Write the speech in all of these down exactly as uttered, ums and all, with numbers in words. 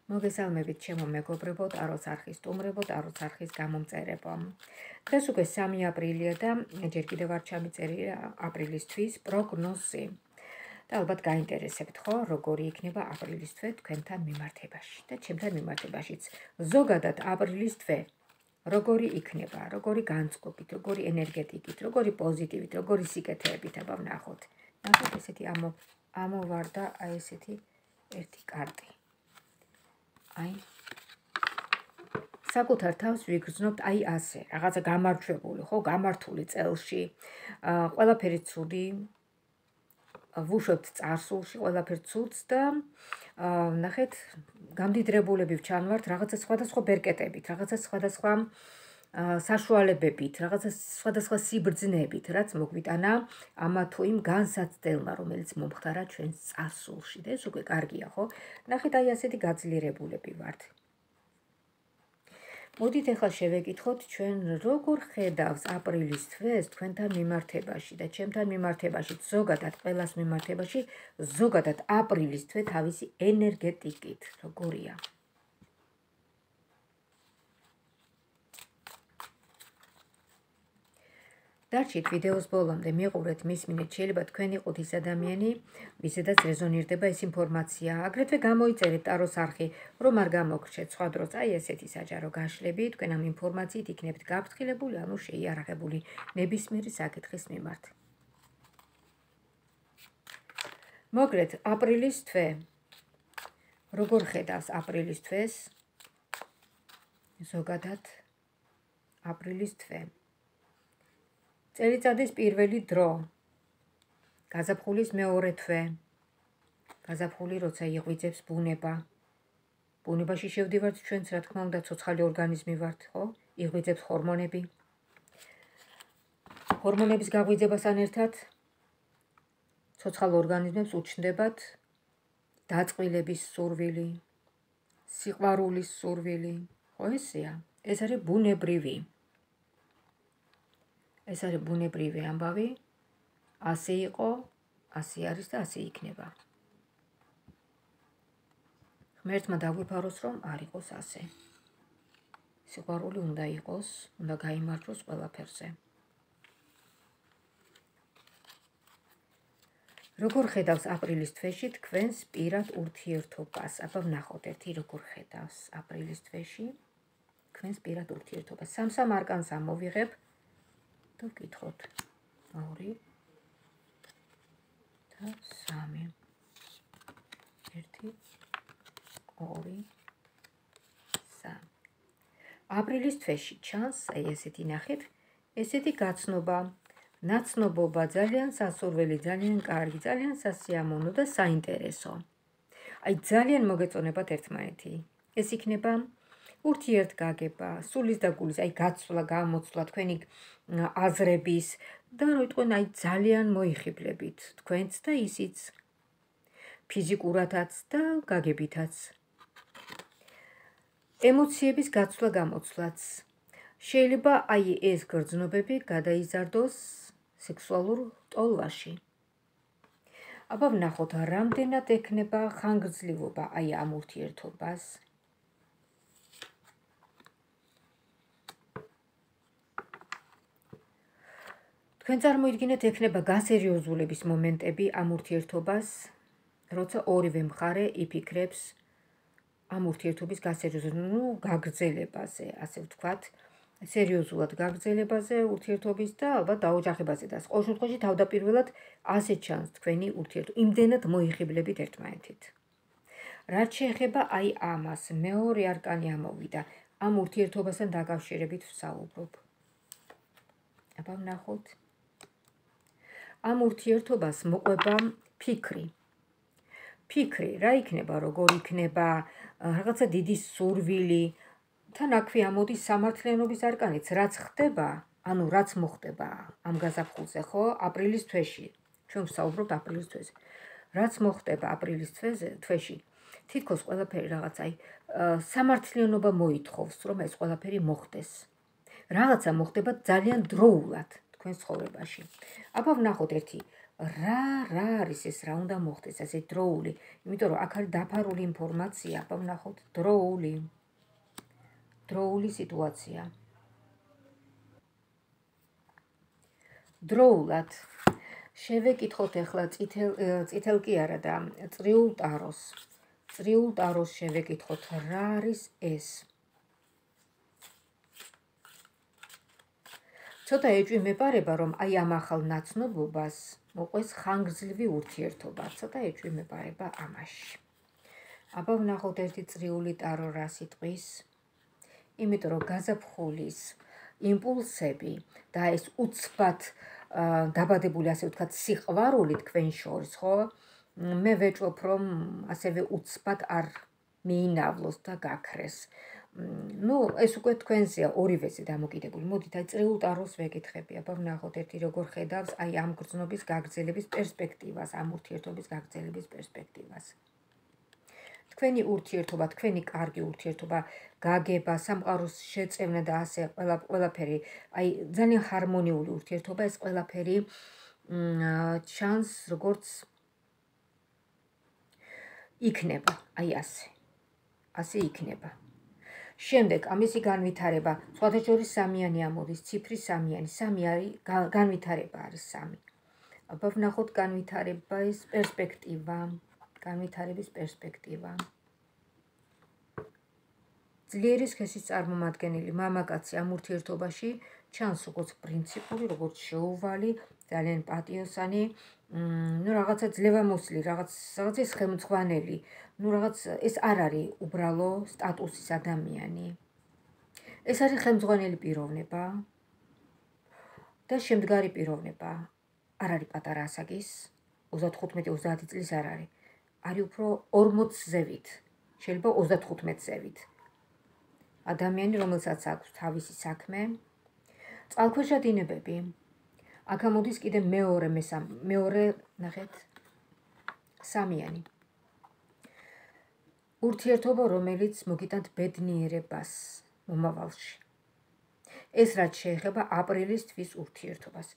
მოგესალმებით ჩემო მეგობრებო, ტაროს არხის სტუმრებო, ტაროს არხის გამომწერებო. დღეს უკვე სამი აპრილია და ჯერ კიდევ არ ჩამიწერია აპრილის თვის პროგნოზი. და ალბათ გაინტერესებთ ხო, როგორი იქნება აპრილის თვე თქვენთან მიმართებაში და ჩემთან მიმართებაშიც. ზოგადად აპრილის თვე როგორი იქნება, როგორი განწყობით, როგორი ენერგეტიკით, როგორი პოზიტივით, როგორი სიკეთეებით, აბა ვნახოთ. ნახეთ ესეთი ამო ამოვარდა აი ესეთი ერთი კარტი. აი საკუთარ თავს ვიგრძნობთ აი ასე, რაღაცა გამარჯვებული, ხო, გამართული წელში, ყველაფერი ცუდი, ვუშვებთ წარსულში ყველაფერ ცუდს და ნახეთ, გამდიდრებულები ვჩანვართ რაღაცა სხვადასხვა ბერკეტებით, რაღაცა სხვადასხვა საშუალებებით, რაღაცა სხვადასხვა სიბრძნებით, რაც მოგვიტანა ამა თუ იმ განსაცდელმა, რომელიც მომხდარა ჩვენს წარსულში. და ეს უკვე კარგია, ხო? ნახეთ, აი ასეთი გაძლიერებულები ვართ. მოდით ახლა შევეკითხოთ ჩვენ როგორ ხედავს აპრილის თვეს თქვენთან მიმართებაში და ჩემთან მიმართებაში, ზოგადად ყველას მიმართებაში, ზოგადად აპრილის თვე თავისი ენერგეტიკით, როგორია. დარჩით ვიდეოს ბოლომდე, მიყურეთ, მისმინეთ, შეიძლება თქვენ იყოთ ის ადამიანი, ვისაც რეზონირდება ეს ინფორმაცია. აგრეთვე გამოიწერეთ ტაროს არხი, რომ არ გამოგრჩეთ სხვა დროს, აი ესეთი საჯარო გაშლები, თქვენ ამ ინფორმაციით იქნებით გაფრთხილებული, ანუ შეიარაღებული ნებისმიერი საკითხის მიმართ. მოგრეთ აპრილის თვე. როგორ ხედავს აპრილის თვეს? ზოგადად აპრილის თვე. წელიწადის პირველი დრო, გაზაფხულის მეორე თვე, გაზაფხული როცა იღვიძებს ბუნება, ბუნებაში შევდივართ ჩვენც, რა თქმა უნდა, ცოცხალი ორგანიზმი ვართ, ხო? იღვიძებს ჰორმონები. ჰორმონების გაღვიძებასთან ერთად ცოცხალ ორგანიზმებს უჩნდებათ დაწყვილების სურვილი, სიყვარულის სურვილი, ხო ესეა? ეს არის ბუნებრივი. ეს არის ბუნებრივი ამბავი, ასე იყო, ასე არის და ასე იქნება. ღმერთმა დაგვიფაროს, რომ არ იყოს ასე. სიყვარული უნდა იყოს, უნდა გაიმარჯვოს ყველაფერზე. როგორ ხედავს აპრილის თვეში თქვენს პირად ურთიერთობას? აბა ვნახოთ ერთი როგორ ხედავს აპრილის თვეში თქვენს პირად ურთიერთობას. სამ-სამ არკანს ამოვიღებ. და ვკითხოთ. ორი და სამი. ერთი, ორი, სამი. აპრილის თვეში ჩანს, აი ესეთი ნახეთ, ესეთი გაცნობა, ნაცნობობა, ძალიან სასურველი, ძალიან კარგი, ძალიან სასიამოვნო და საინტერესო. აი ძალიან მოგეწონებათ ერთმანეთი. ეს იქნება ურთიერთგაგება, სულის და გულის, აი გაცვლა, გამოცვლა, თქვენი აზრების და რო იტყვენ, აი ძალიან მოიხიბლებით თქვენც და ისიც ფიზიკურადაც და გაგებითაც. ემოციების გაცვლა, გამოცვლაც. შეიძლება აი ეს გრძნობები გადაიზარდოს სექსუალურ ტოლვაში. აბა ვნახოთ, რამდენად ექნება ხანგრძლივობა აი ამ ურთიერთობას. თქვენ წარმოიდგინეთ, ექნება გასერიოზულების მომენტები ამ ურთიერთობას, როცა ორივე მხარე იფიქრებს ამ ურთიერთობის გასერიოზულებას, ნუ გაგრძელებაზე, ასე ვთქვათ, სერიოზულად გაგრძელებაზე ურთიერთობის და ალბათ დაოჯახებაზე და ყოველ შემთხვევაში თავდაპირველად ასე ჩანს თქვენი ურთიერთობა, იმდენად მოიხიბლებით ერთმანეთით. რაც შეეხება აი ამას, მეორე არკანი ამოვიდა, ამ ურთიერთობასთან დაკავშირებით ვსაუბრობ. აბა ვნახოთ. ამ ურთიერთობას მოყვება ფიქრი. ფიქრი, რა იქნება, როგორ იქნება, რაღაცა დიდი სურვილი, თან აქვე ამოდის სამართლიანობის არკანიც, რაც ხდება, ანუ რაც მოხდება ამ გაზაფხულზე, ხო, აპრილის თვეში. ჩვენ ვსაუბრობთ აპრილის თვეზე. რაც მოხდება აპრილის თვეში, თითქოს ყველაფერი რაღაც აი სამართლიანობა მოითხოვს, რომ ეს ყველაფერი მოხდეს. რაღაცა მოხდება ძალიან დროულად თქვენს ცხოვრებაში. აბა ვნახოთ ერთი რა რა არის ეს, რა უნდა მოხდეს, ასე დროული, იმიტომ რომ აქ არის დაფარული ინფორმაცია, აბა ვნახოთ, დროული. დროული სიტუაცია. დროულად შევეკითხოთ ახლა წითელ წითელ კი არა და წრიულ ტაროს. წრიულ ტაროს შევეკითხოთ, რა არის ეს? ცოტა ეჭვმეპარება, რომ აი ამ ახალ ნაცნობობას მოყვეს ხანგრძლივი ურთიერთობა. ცოტა ეჭვმეპარება ამაში. აბა ვნახოთ ერთი წრიული ტარო რა სიტყვის. იმიტომ რომ გაზაფხულის იმპულსები და ეს უცბად დაბადებული, ასე ვთქვათ, სიყვარული თქვენ შორის, ხო? მე ვეჭვობ, რომ ასევე უცბად არ მიინავლოს და გაქრეს. ნუ ეს უკვე თქვენზეა, ორივეზე დამოკიდებული. მოდით აი წრიულ ტაროს ვეკითხები, აბა ვნახოთ ერთი როგორ ხედავს აი ამ გრძნობის გაგრძელების პერსპექტივას, ამ ურთიერთობის გაგრძელების პერსპექტივას. თქვენი ურთიერთობა, თქვენი კარგი ურთიერთობა, გაგება, სამყაროს შეწევნა და ასე ყველაფერი, აი ძალიან ჰარმონიული ურთიერთობა, ეს ყველაფერი ჩანს როგორც იქნება, აი ასე. ასე იქნება. შემდეგ ამისი განვითარება, სხვათა შორის სამიანი ამოდის, ციფრი სამიანი, სამი არის განვითარება არის სამი. აბა ვნახოთ განვითარების პერსპექტივა, განვითარების პერსპექტივა. ძლიერი სქესის წარმომადგენელი მამაკაცი ამ ურთიერთობაში ჩანს როგორც პრინციპული, როგორც შეუვალი, ძალიან პატიოსანი, ნუ რაღაცა ძლევამოსილი, რაღაც რაღაცის ხელმძღვანელი, ნუ რაღაც ეს არ არის უბრალო სტატუსის ადამიანი. ეს არის ხელმძღვანელი პიროვნება და შემდგარი პიროვნება. არ არის პატარა ასაკის, ოცდათხუთმეტი ოცდაათი წლის არ არის. არის უფრო ორმოც ზევით, შეიძლება ოცდათხუთმეტ ზევით. ადამიანი, რომელსაც აქვს თავისი საქმე, წყალქვეშა დინებები. აქ ამოდის კიდე მეორე მესამე, მეორე, ნახეთ, სამიანი. ურთიერთობა, რომელიც მოგიტანთ ბედნიერებას მომავალში. ეს რაც შეეხება აპრილის თვის ურთიერთობას.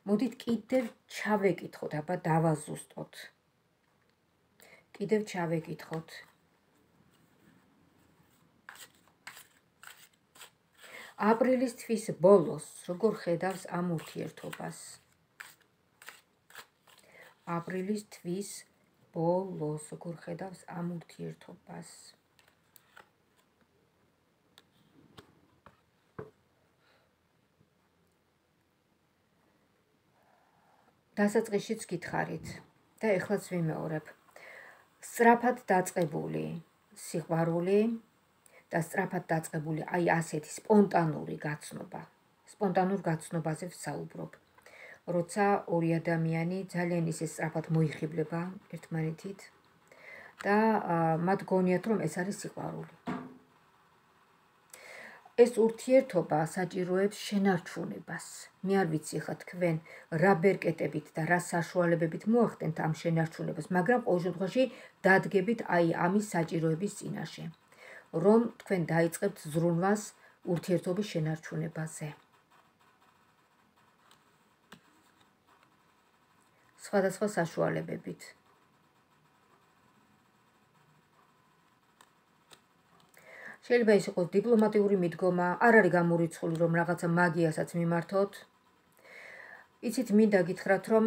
მოდით კიდევ ჩავეკითხოთ, აბა დავაზუსტოთ. კიდევ ჩავეკითხოთ. აპრილის თვის ბოლოს როგორ ხედავს ამ ურთიერთობას? აპრილის თვის ბოლოს როგორ ხედავს ამ ურთიერთობას? დასაწყისშიც გითხარით და ეხლაც ვიმეორებ. სწრაფად დაწყებული სიყვარული და სწრაფად დაწყებული აი ასეთი სპონტანური გაცნობა. სპონტანურ გაცნობაზე ვსაუბრობ. როცა ორი ადამიანი ძალიან ისე სწრაფად მოიხიბლება ერთმანეთით და მათ გონიათ, რომ ეს არის სიყვარული. ეს ურთიერთობა საჭიროებს შენარჩუნებას. მე არ ვიცი ხა თქვენ რა ბერკეტებით და რა საშუალებებით მოახდენთ ამ შენარჩუნებას, მაგრამ ყოველ შემთხვევაში დადგებით აი ამის საჭიროების წინაშე. რომ თქვენ დაიწყებთ ზრუნვას ურთიერთობის შენარჩუნებაზე. სხვადასხვა საშუალებებით. შეიძლება ის იყოს დიპლომატიური მიდგომა, არ არის გამორიცხული, რომ რაღაცა მაგიასაც მიმართოთ. იცით, მინდა გითხრათ, რომ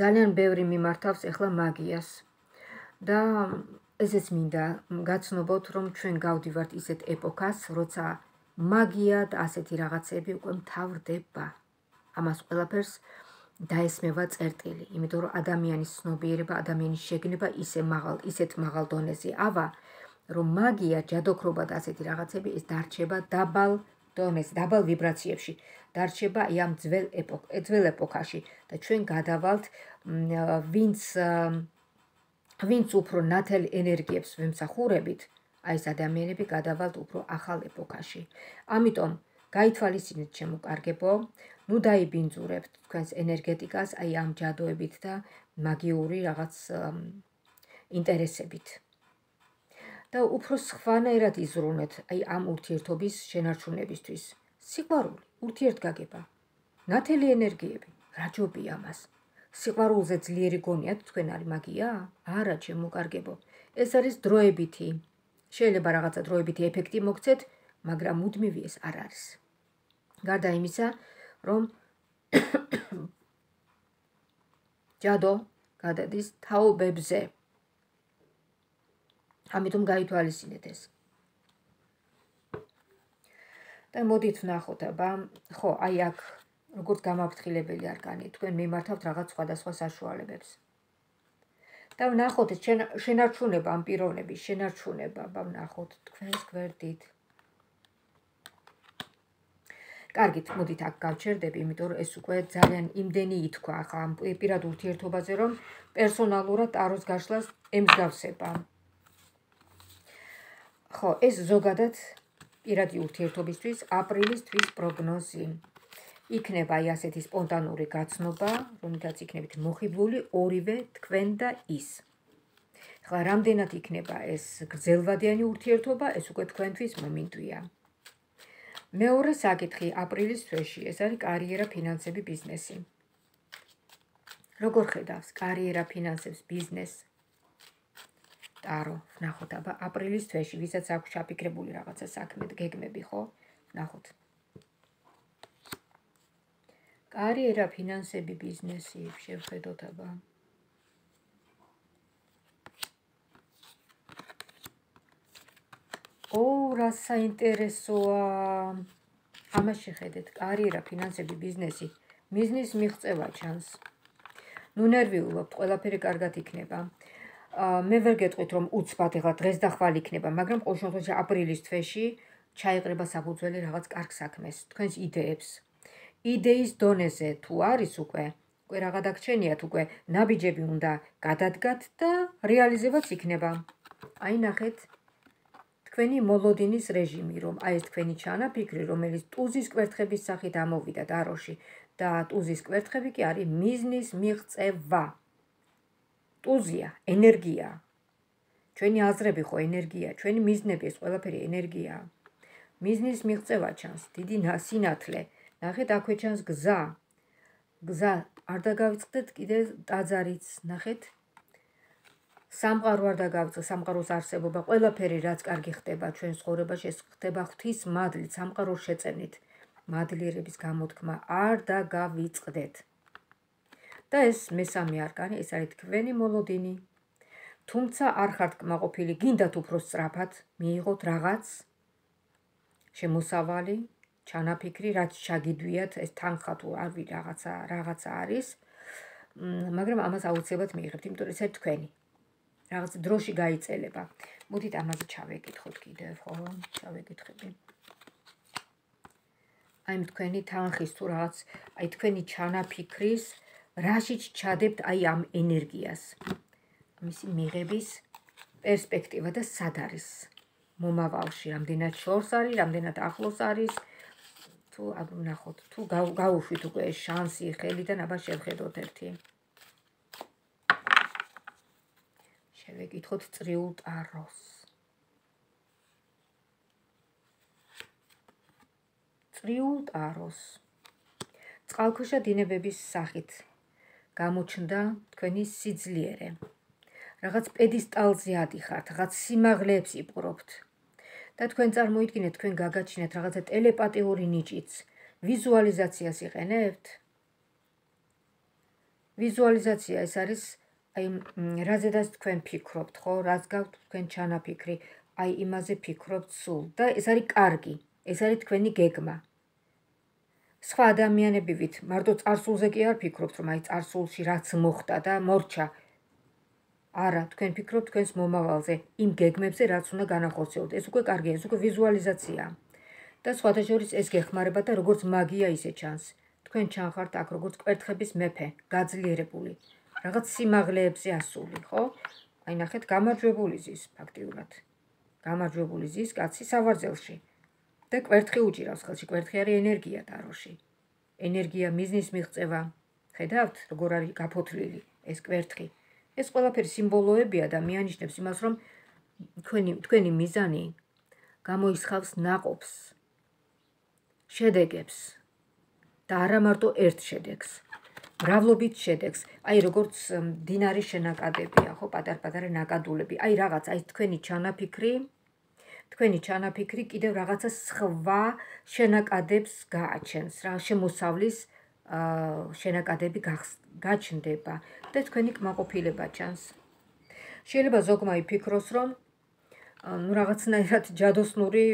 ძალიან ბევრი მიმართავს ახლა მაგიას. და ესეც მინდა გაცნობოთ, რომ ჩვენ გავდივართ ისეთ ეპოქას, როცა მაგია და ასეთი რაღაცები უკვე მთავრდება. ამას ყველაფერს დაესმევა წერტილი, იმიტომ რომ ადამიანის ცნობიერება, ადამიანის შეგნება ისე მაღალ, ისეთ მაღალ დონეზე ავა, რომ მაგია, ჯადოქრობა და ასეთი რაღაცები ეს დარჩება დაბალ დონეზე, დაბალ ვიბრაციებში, დარჩება ამ ძველ ეპოქ, ძველ ეპოქაში და ჩვენ გადავალთ, ვინც ვინც უფრო ნათელ ენერგიებს ვემსახურებით, აი ეს ადამიანები გადავალთ უფრო ახალ ეპოქაში. ამიტომ გაითვალისწინეთ ჩემო კარგებო, ნუ დაიბინძურებთ თქვენს ენერგეტიკას აი ამ ჯადოებით და მაგიური რაღაც ინტერესებით. და უფრო სხვანაირად იზრუნეთ აი ამ ურთიერთობის შენარჩუნებისთვის. სიყვარული, ურთიერთგაგება, ნათელი ენერგიები, რა ჯობია ამას. სიყვარულზე ძლიერი გონიათ თქვენ არის მაგია? არა, ჩემო კარგებო. ეს არის დროებითი. შეიძლება რაღაცა დროებითი ეფექტი მოგცეთ, მაგრამ მუდმივი ეს არ არის. გარდა იმისა, რომ ჯადო გადადის თაობებზე. ამიტომ გაითვალისწინეთ ეს. და მოდით ვნახოთ, აბა, ხო, აი აქ როგორც გამაფრთხილებელი არკანი, თქვენ მიმართავთ რაღაც სხვადასხვა საშუალებებს. და ვნახოთ ეს შენარჩუნება ამ პიროვნების, შენარჩუნება, აბა ვნახოთ თქვენს გვერდით. კარგით, მოდით აქ გავჩერდები, იმიტომ რომ ეს უკვე ძალიან იმდენი ითქვა ახლა ამ პირად ურთიერთობაზე, რომ პერსონალურად ტაროს გაშლას ემსგავსება. ხო, ეს ზოგადად პირადი ურთიერთობისთვის აპრილის თვის პროგნოზი. იქნება აი ასეთი სპონტანური გაცნობა, რომლითაც იქნებით მოხიბლული ორივე თქვენ და ის. ახლა რამდენად იქნება ეს გრძელვადიანი ურთიერთობა, ეს უკვე თქვენთვის მომინდვია. მეორე საკითხი აპრილის თვეში, ეს არის კარიერა, ფინანსები, ბიზნესი. როგორ ხედავს კარიერა, ფინანსებს, ბიზნესს? ტარო, ვნახოთ, აბა აპრილის თვეში, ვისაც აქვს ჩაფიქრებული რაღაცა საქმე, გეგმები, ხო? ვნახოთ. კარიერა, ფინანსები, ბიზნესი, შევხედოთ, აბა. ო, რა საინტერესოა. ამას შეხედეთ, კარიერა, ფინანსები, ბიზნესი, მიზნის მიღწევა ჩანს. ნუ ნერვიულობთ, ყველაფერი კარგად იქნება. მე ვერ გეტყვით, რომ უცბად ეხლა დღეს და ხვალ იქნება, მაგრამ ყოველ შემთხვევაში აპრილის თვეში ჩაიყრება საფუძველი რაღაც კარგ საქმეს, თქვენს იდეებს. იდეის დონეზე თუ არის უკვე, უკვე რაღა დაგჩენიათ, უკვე ნაბიჯები უნდა გადადგათ და რეალიზებაც იქნება. აი ნახეთ, თქვენი მოლოდინის რეჟიმი, რომ აი ეს თქვენი ჩანაფიქრი, რომელიც ტუზის კვერთხების სახით ამოვიდა ტაროში და ტუზის კვერთხები კი არის მიზნის მიღწევა. ტუზია, ენერგია. ჩვენი აზრები ხო ენერგია, ჩვენი მიზნები ეს ყველაფერი ენერგია. მიზნის მიღწევა ჩანს, დიდი სინათლე. ნახეთ, აქვე ჩანს გზა. გზა არ დაგავიწყდეთ კიდე ტაძარიც, ნახეთ. სამყარო არ დაგავიწყდეთ, სამყაროს არსებობა, ყველაფერი რაც კარგი ხდება ჩვენ ცხოვრებაში, ეს ხდება ღვთის მადლით, სამყაროს შეწევნით. მადლიერების გამოთქმა არ დაგავიწყდეთ. და ეს მესამე არკანი, ეს არის თქვენი მოლოდინი. თუმცა არ ხართ კმაყოფილი, გინდათ უფრო სწრაფად მიიღოთ რაღაც შემოსავალი, ჩანაფიქრი, რაც ჩაგიდვიათ, ეს თანხა თუ არ ვიცი რაღაცა, რაღაცა არის, მაგრამ ამას აუცილებლად მიიღებთ, იმიტომ რომ ეს არის თქვენი. რაღაც დროში გაიწელება. მოდით ამაზე ჩავეკითხოთ კიდევ, ხო, ჩავეკითხები. აი თქვენი თანხის თუ რაღაც, აი თქვენი ჩანაფიქრის რაშიც ჩადებთ აი ამ ენერგიას. მისი მიღების პერსპექტივა და სად არის მომავალში, რამდენად შორს არის, რამდენად ახლოს არის, თუ ვნახოთ, თუ გავუშვით უკვე ეს შანსი ხელიდან, აბა შევხედოთ ერთი. შევეკითხოთ წრიულ ტაროს. წრიულ ტაროს. წყალქვეშა დინებების სახით გამოჩნდა თქვენი სიძლიერე. რაღაც პედესტალზე ადიხართ, რაღაც სიმაღლეებს იპყრობთ. და თქვენ წარმოიდგინეთ, თქვენ გაგაჩინეთ რაღაცა ტელეპათიური ნიჭიც. ვიზუალიზაციას იყენებთ? ვიზუალიზაცია ეს არის აი რაზედაც თქვენ ფიქრობთ, ხო? რაც გაქვთ თქვენ ჩანაფიქრი, აი იმაზე ფიქრობთ სულ და ეს არის კარგი, ეს არის თქვენი გეგმა. სხვა ადამიანები ვით, მარტო წარსულზე კი არ ფიქრობთ, რომ აი წარსულში რაც მოხდა და მორჩა. არა, თქვენ ფიქრობთ თქვენს მომავალზე, იმ გეგმებზე, რაც უნდა განახორციელოთ. ეს უკვე კარგია, ეს უკვე ვიზუალიზაციაა. და სხვათა შორის ეს გეხმარება და როგორც მაგია ისე ჩანს. თქვენ ჩანხართ აქ როგორც კვერთხების მეფე, გაძლიერებული, რაღაც სიმაღლეებზე ასული, ხო? აი ნახეთ, გამარჯვებული ზის ფაქტიურად. გამარჯვებული ზის კაცი სავარძელში. და კვერთხი უჭირავს ხელში, კვერთხი არის ენერგია ტაროში. ენერგია, მიზნის მიღწევა. ხედავთ, როგორ არის გაფოთლილი ეს კვერთხი. ეს ყველაფერი სიმბოლოებია და მიანიშნებს იმას, რომ თქვენი თქვენი მიზანი გამოისხავს ნაყოფს, შედეგებს და არა მარტო ერთ შედეგს. მრავლობით შედეგს. აი როგორც მდინარის შენაკადებია, ხო, პატარ-პატარა ნაკადულები. აი რაღაც, აი თქვენი ჩანაფიქრი, თქვენი ჩანაფიქრი კიდევ რაღაცა სხვა შენაკადებს გააჩენს, რა შემოსავლის შენაკადები გაჩნდება და თქვენი კმაყოფილება ჩანს. შეიძლება ზოგმა იფიქროს, რომ ну რაღაცნაირად ჯადოსნური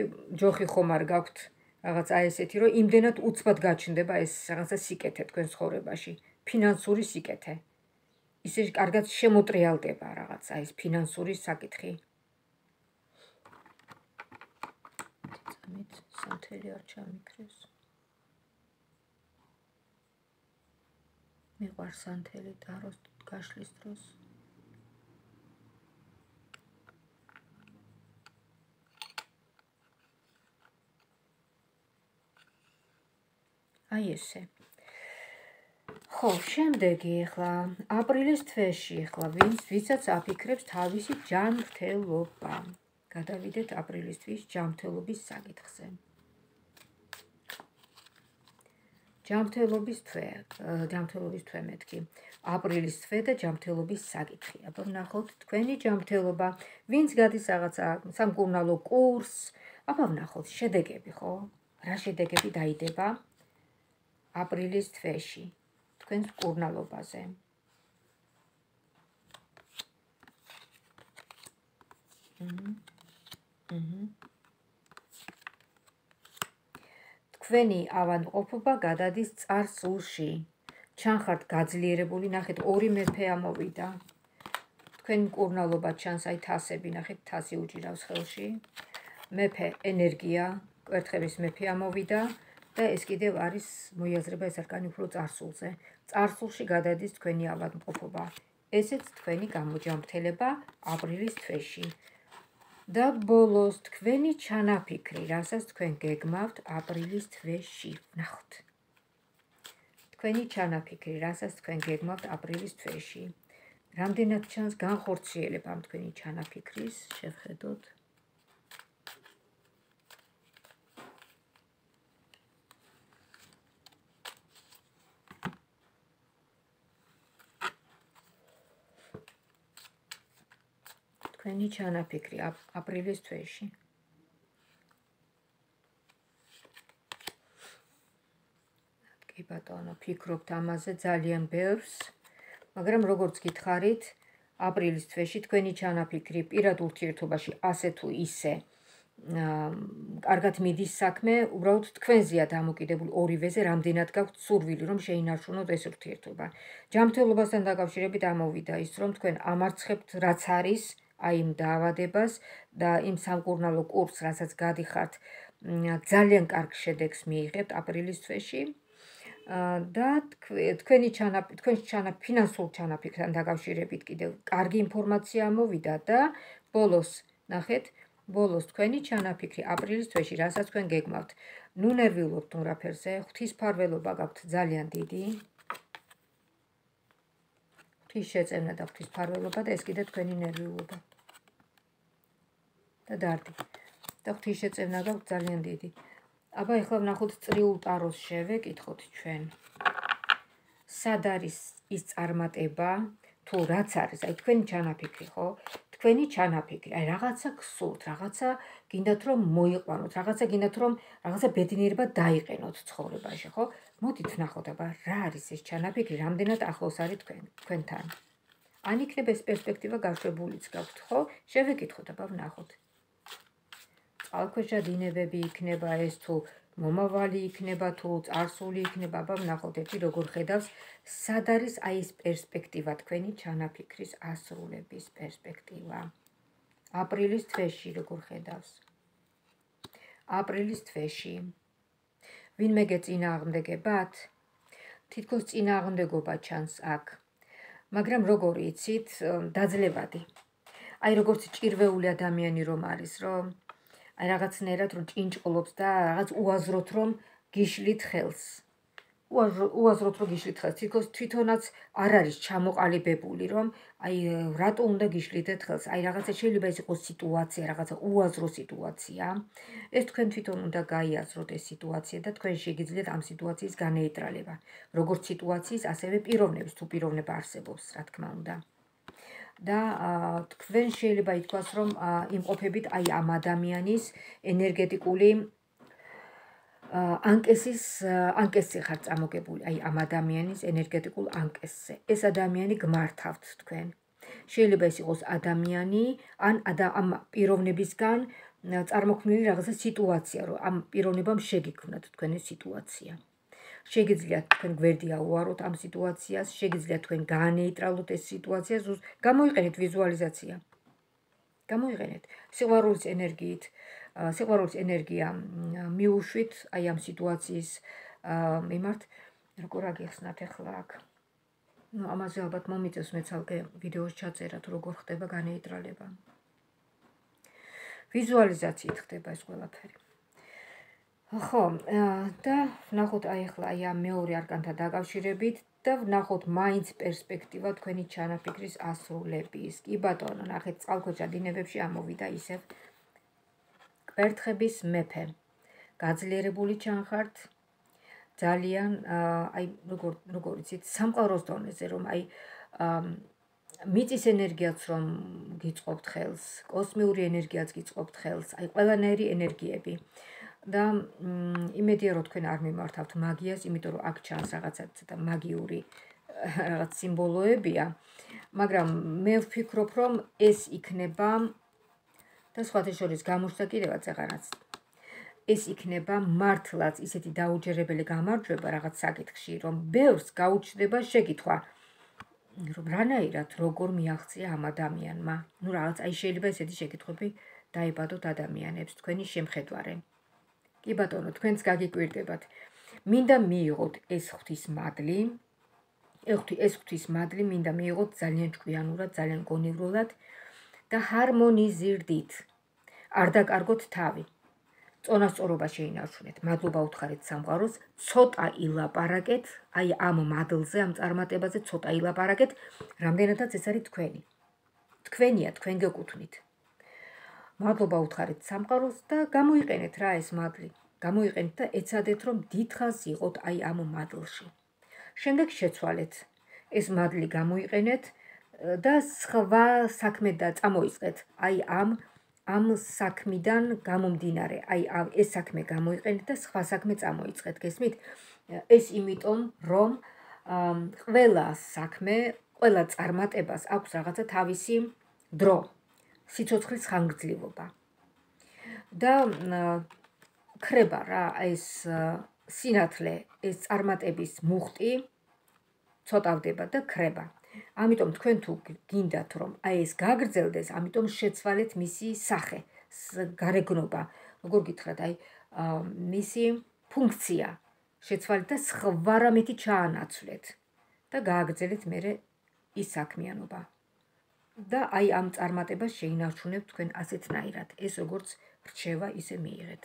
ჯოხი ხომ არ გაქვთ, რაღაც აი ესეთი, რომ იმდენად უცბად გაჩნდება ეს რაღაცა სიკეთე თქვენ ცხოვრებაში, ფინანსური სიკეთე. ისე კარგად შემოტრიალდება რაღაცა ეს ფინანსური საკითხი. წამით სამთელი არ ჩამიქრეს. მიყვარს სანთელი ტაროს გაშლის დროს. აი ესე. ხო, შემდეგი ახლა აპრილის თვეში ახლა ვინც ვისაც აფიქრებს თავისი ჯანმრთელობა. გადავიდეთ აპრილის თვის ჯანმრთელობის საკითხზე. ჯანმრთელობის თვე, ჯანმრთელობის თვე მეთქი. აპრილის თვე და ჯანმრთელობის საკითხი. აბა ვნახოთ თქვენი ჯანმრთელობა, ვინც გადის რაღაცა სამკურნალო კურსს, აბა ვნახოთ შედეგები, ხო? რა შედეგები დაიდება აპრილის თვეში თქვენს მკურნალობაზე. თქვენი ავადმყოფობა გადადის წარსულში. ჩანხართ გაძლიერებული, ნახეთ ორი მეფე ამოვიდა. თქვენი მკურნალობა ჩანს, აი თასები, ნახეთ თასი უჭირავს ხელში. მეფე ენერგია, კვერთხების მეფე ამოვიდა და ეს კიდევ არის მოიაზრება ეს არკანი უფრო წარსულზე. წარსულში გადადის თქვენი ავადმყოფობა. ესეც თქვენი გამოჯანმრთელება აპრილის თვეში. და ბოლოს თქვენი ჩანაფიქრი, რასაც თქვენ გეგმავთ აპრილის თვეში. ნახოთ. თქვენი ჩანაფიქრი, რასაც თქვენ გეგმავთ აპრილის თვეში. რამდენად ჩანს განხორციელება ამ თქვენი ჩანაფიქრის, შევხედოთ. თქვენი ჩანაფიქრი აპრილის თვეში. კი ბატონო, ფიქრობთ ამაზე ძალიან ბევრს, მაგრამ როგორც გითხარით, აპრილის თვეში თქვენი ჩანაფიქრი პირად ურთიერთობაში ასე თუ ისე კარგად მიდის საქმე, უბრალოდ თქვენზეა დამოკიდებული ორივეზე, რამდენად გაქვთ სურვილი, რომ შეინარჩუნოთ ეს ურთიერთობა. ჯანმრთელობასთან დაკავშირებით ამოვიდა ის, რომ თქვენ ამარცხებთ რაც არის, აი იმ დაავადებას და იმ სამკურნალო კურსს, რასაც გადიხართ, ძალიან კარგ შედეგს მიიღებთ აპრილის თვეში. და თქვენი ჩანაფიქრი, თქვენს ფინანსურ ჩანაფიქრთან დაკავშირებით კიდევ კარგი ინფორმაცია ამოვიდა და ბოლოს, ნახეთ, ბოლოს თქვენი ჩანაფიქრი აპრილის თვეში, რასაც თქვენ გეგმავთ. ნუ ნერვიულობთ თუ რაფერზე, ღვთისმფარველობა გაქვთ ძალიან დიდი. ღვთის შეწევნა და ღვთისმფარველობა და ეს კიდე თქვენი ნერვიულობა. და დარდი. და ღვთის შეწევნა გაქვთ ძალიან დიდი. აბა ეხლა ვნახოთ წრიულ ტაროს შევეკითხოთ ჩვენ. სად არის ის წარმატება, თუ რაც არის, აი თქვენი ჩანაფიქრი, ხო? თქვენი ჩანაფიქრი, აი რაღაცა გსურთ, რაღაცა გინდათ რომ მოიყვანოთ, რაღაცა გინდათ რომ რაღაცა ბედნიერება დაიყენოთ ცხოვრებაში, ხო? მოდით ვნახოთ, აბა რა არის ეს ჩანაფიქრი, რამდენად ახლოს არის თქვენ, თქვენთან. ან იქნება ეს პერსპექტივა გაშვებულიც გაქვთ, ხო? შევეკითხოთ, აბა ვნახოთ. წყალქვეშა დინებები იქნება ეს თუ მომავალი იქნება თუ წარსული იქნება, აბა ვნახოთ ერთი როგორ ხედავს, სად არის აი ეს პერსპექტივა თქვენი ჩანაფიქრის ასრულების პერსპექტივა. აპრილის თვეში როგორ ხედავს. აპრილის თვეში. ვინმე გეწინააღმდეგებათ? თითქოს წინააღმდეგობა ჩანს აქ. მაგრამ როგორ იცით, დაძლევადი. აი როგორც ჭირვეული ადამიანი რომ არის, რომ აი რაღაცნაირად რომ ჭინჭყლობს და რაღაც უაზროთ რომ გიშლით ხელს. უაზროდ რო გიშლით ხელს, თითქოს თვითონაც არ არის ჩამოყალიბებული, რომ აი რატო უნდა გიშლიდეთ ხელს, აი რაღაცა შეიძლება ეს იყოს სიტუაცია, რაღაცა უაზრო სიტუაცია. ეს თქვენ თვითონ უნდა გაიაზროთ ეს სიტუაცია და თქვენ შეგიძლიათ ამ სიტუაციის განეიტრალება. როგორც სიტუაციის, ასევე პიროვნების, თუ პიროვნება არსებობს, რა თქმა უნდა. და თქვენ შეიძლება ითქვას, რომ იმყოფებით აი ამ ადამიანის ენერგეტიკული ანკესის ანკესზე ხართ წამოგებული, აი ამ ადამიანის ენერგეტიკულ ანკესზე. ეს ადამიანი გმართავთ თქვენ. შეიძლება ეს იყოს ადამიანი, ან ამ პიროვნებისგან წარმოქმნილი რაღაცა სიტუაცია, რომ ამ პიროვნებამ შეგიქმნათ თქვენი სიტუაცია. შეგიძლიათ თქვენ გვერდი აუაროთ ამ სიტუაციას, შეგიძლიათ თქვენ გაანეიტრალოთ ეს სიტუაცია, გამოიყენეთ ვიზუალიზაცია. გამოიყენეთ სიყვარულის ენერგიით, სიყვარულის ენერგია მიუშვით აი ამ სიტუაციის მიმართ, როგორ აგიხსნათ ახლა აქ. ნუ ამაზე ალბათ მომიწევს მე ცალკე ვიდეოს ჩაწერა, თუ როგორ ხდება განეიტრალება. ვიზუალიზაციით ხდება ეს ყველაფერი. ხო, და ვნახოთ აი ახლა აი ამ მეორე არკანთან დაკავშირებით და ვნახოთ მაინც პერსპექტივა თქვენი ჩანაფიქრის ასრულების. კი ბატონო, ნახეთ წყალქვეშა დინებებში ამოვიდა ისევ კვერთხების მეფე. გაძლიერებული ჩანხართ, ძალიან აი როგორ როგორ იცით, სამყაროს დონეზე, რომ აი მიწის ენერგიაც რომ გიწყობთ ხელს, კოსმიური ენერგიაც გიწყობთ ხელს, აი ყველანაირი ენერგიები. და იმედია რომ თქვენ არ მიმართავთ მაგიას, იმიტომ რომ აქ ჩანს რაღაცა ცოტა მაგიური რაღაც სიმბოლოებია, მაგრამ მე ვფიქრობ რომ ეს იქნება და სხვათა შორის გამოჩნდა კიდევაც აღარაც ეს იქნება მართლაც ისეთი დაუჯერებელი გამარჯვება რაღაც საკითხში, რომ ბევრს გაუჩნდება შეკითხვა, რომ რანაირად როგორ მიაღწია ამ ადამიანმა. ნუ რაღაც აი შეიძლება ესეთი შეკითხვები დაიბადოთ ადამიანებს თქვენი შემხედვარე. კი ბატონო, თქვენც გაგიკვირდებათ. მინდა მიიღოთ ეს ღვთის მადლი, ეს ღვთის მადლი მინდა მიიღოთ ძალიან ჭკვიანურად, ძალიან გონივრულად და ჰარმონიზირდით. არ დაკარგოთ თავი. წონასწორობა შეინარჩუნეთ. მადლობა უთხარით სამყაროს, ცოტა ილაპარაკეთ, აი ამ მადლზე, ამ წარმატებაზე ცოტა ილაპარაკეთ, რამდენადაც ეს არის თქვენი. თქვენია, თქვენ გეკუთვნით. მადლობა უთხარით სამყაროს და გამოიყენეთ რა ეს მადლი. გამოიყენეთ და ეცადეთ რომ დიდხანს იყოთ აი ამ მადლში. შემდეგ შეცვალეთ. ეს მადლი გამოიყენეთ და სხვა საქმე და წამოიწყეთ. აი ამ ამ საქმიდან გამომდინარე, აი ეს საქმე გამოიყენეთ და სხვა საქმე წამოიწყეთ. გესმით? ეს იმიტომ რომ ყველა საქმე, ყველა წარმატებას აქვს რაღაცა თავისი დრო. სიცოცხლის ხანგრძლივობა. და ქრება რა ეს სინათლე, ეს წარმატების მუხტი ცოტავდება და ქრება. ამიტომ თქვენ თუ გინდათ რომ აი ეს გაგრძელდეს, ამიტომ შეცვალეთ მისი სახე, გარეგნობა, როგორ გითხრათ, აი მისი ფუნქცია შეცვალეთ და სხვა რამეთი ჩაანაცვლეთ და გააგრძელეთ მერე ის საქმიანობა. და აი ამ წარმატებას შეინარჩუნებთ თქვენ ასეთნაირად, ეს როგორც რჩევა ისე მიიღეთ.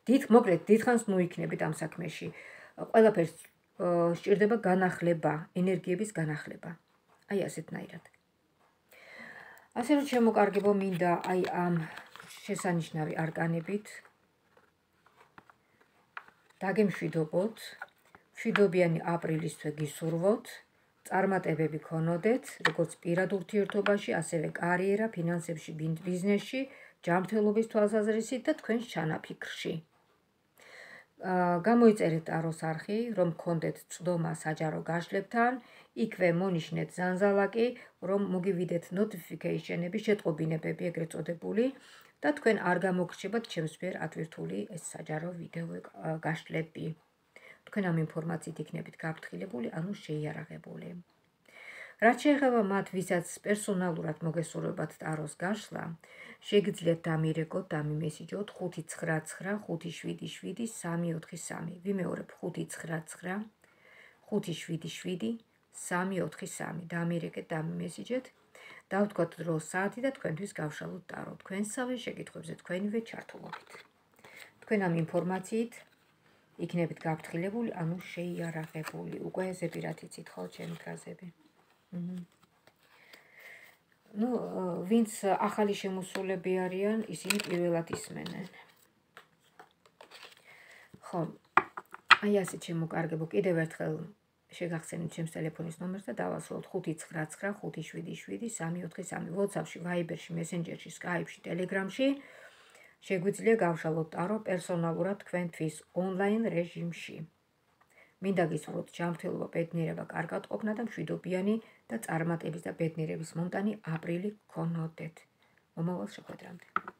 დიდ მოკლედ დიდხანს მოიქნებით ამ საქმეში. ყველაფერს სჭირდება განახლება, ენერგიების განახლება. აი ასეთნაირად. ასე რომ შემოკარგებო მინდა აი ამ შესანიშნავი არკანებით დაგემშვიდობოთ, მშვიდობიანი აპრილის თვე გისურვოთ, წარმატებები გქონოდეთ, როგორც პირად ურთიერთობაში, ასევე კარიერა, ფინანსებში, ბიზნესში, ჯანმრთელობის თვალსაზრისით და თქვენს ჩანაფიქრში. გამოიწერეთ ტაროს არხი, რომ გქონდეთ წვდომა საჯარო გაშლებთან, იქვე მონიშნეთ ზანზალაკი, რომ მოგივიდეთ notification-ები, შეტყობინებები ეგრეთ წოდებული და თქვენ არ გამოგრჩებათ ჩემს მიერ ატვირთული ეს საჯარო ვიდეო გაშლები. თქვენ ამ ინფორმაციით იქნებით გაფრთხილებული, ანუ შეიარაღებული. რაც შეეხება მათ, ვისაც პერსონალურად მოგესურვებათ ტაროს გაშლა, შეგიძლიათ დამირეკოთ, დამიმესიჯოთ ხუთი ცხრა ცხრა ხუთი შვიდი შვიდი სამი ოთხი სამი. ვიმეორებ ხუთი ცხრა ცხრა ხუთი შვიდი შვიდი სამი ოთხი სამი. დამირეკეთ, დამიმესიჯეთ, დავთქვათ დრო საათი და თქვენთვის გავშალოთ ტარო. თქვენსავე შეკითხვებზე თქვენივე ჩართულობით. თქვენ ამ ინფორმაციით იქნებით გაფრთხილებული, ანუ შეიარაღებული. უკვე ზეპირად იცით ხო ჩემი ფრაზები. ნუ ვინც ახალი შემოსულები არიან, ისინი პირველად ისმენენ. ხო, აი ასე ჩემო კარგებო, კიდევ ერთხელ შეგახსენებთ ჩემს ტელეფონის ნომერს და დავასრულოთ ხუთი ცხრა ცხრა ხუთი შვიდი შვიდი სამი ოთხი სამი. WhatsApp-ში, Viber-ში, Messenger-ში, Skype-ში, Telegram-ში შეგვიძლია გავშალოთ ტარო პერსონალურად თქვენთვის ონლაინ რეჟიმში. მინდა გისურვოთ ჯანმრთელობა, ბედნიერება, კარგად ყოფნა და მშვიდობიანი და წარმატების და ბედნიერების მომტანი აპრილი გქონოდეთ. მომავალ შეხვედრამდე.